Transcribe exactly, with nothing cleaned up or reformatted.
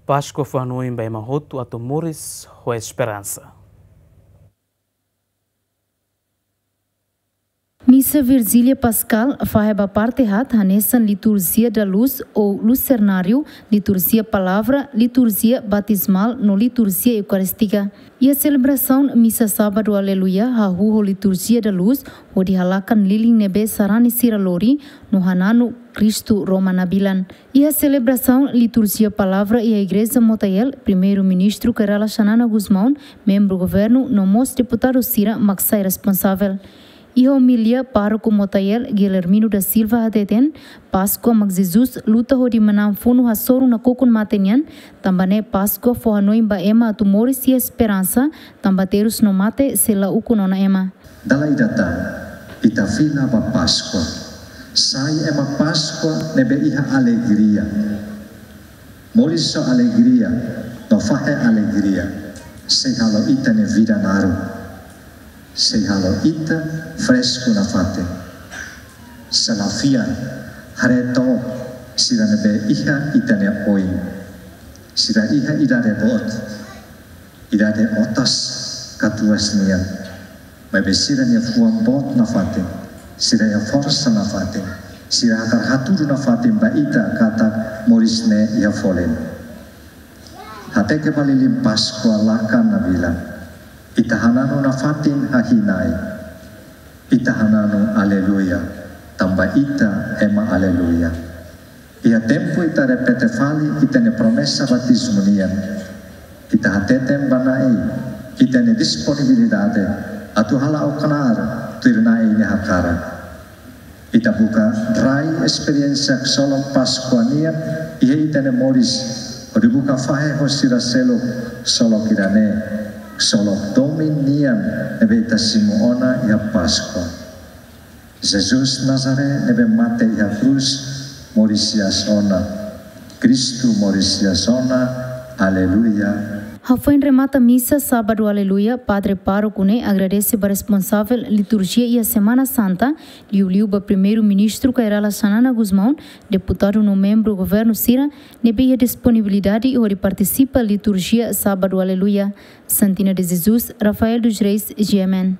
Páskua fó hanoin ba ema hotu atu moris ho esperansa. Misa Virjília Paskál fahe ba parte haat hanesan Liturjia da Luz ou Lusernáriu, Liturjia Palavra, Liturjia Batizmál no Liturjia Eukarístika. Iha selebrasaun Misa Sábadu Aleluia hahú ho Liturjia da Luz, hodi halakan lilin ne'ebé sarani sira lori no hananu Kristu Roma Nabilan. Iha selebrasaun Liturjia Palavra iha Igreja Motael, Primeiru-Ministru Kay Rala Xanana Gusmão, membru governu no mós deputadu sira mak sai responsavel. Iha omilia, pároku Motael, Guilhermino da Silva hateten, Páskua mak Jesus luta hodi manán funu hasoru nakukun mate nian, tanba ne'e Páskua fó hanoin ba ema atu moris iha esperansa, tanba terus no mate sei la ukun ona ema. Dala ida tan, ita fila ba Páskua. Sai ema Páskua ne'ebé iha alegria. Moris ho alegria, no fahe alegria. Sei halo ita-nia vida naruk. Sei halo ita fresku nafatin. Se la fiar, haree took sira ne'ebé iha ita-nia oin. Sira iha idade boot, idade otas ka tuas nian. Maibé sira-nia fuan boot nafatin, sira iha forsa nafatin, sira hakarak hatudu nafatin ba ita katak moris ne'e iha folin. Hateke ba lilin Páskua lakan Nabilan. Ita hananu nafatin hahi'i Na'i. Ita hananu Aleluia, tanba ita ema Aleluia. Iha tempu ita repete fali ita-nia promesa batizmu nian, ita hateten ba Na'i ita-nia disponibilidade atu hala'o knaar tuir Na'i nia hakarak. Ita buka rai esperiénsia ksolok Páskua nian iha ita-nia moris, hodi buka fahe ho sira seluk ksolok ida-ne'e, ksolok domin nian ne'ebé ita simu ona iha Páskua. Jesus Nazaré ne'ebé mate iha krús, moris hi'as ona. Kristu moris hi'as ona. Aleluia. Hafoin remata Misa Sábadu Aleluia, Padre Pároku ne'e agradese ba responsavel liturjia iha Semana Santa, liuliu ba Primeiru-Ministru Kay Rala Xanana Gusmão, deputadu no membru governu sira, ne'ebé iha disponibilidade hodi partisipa liturjia Sábadu Aleluia. Santina de Jesus, Rafael dos Reis, G M N.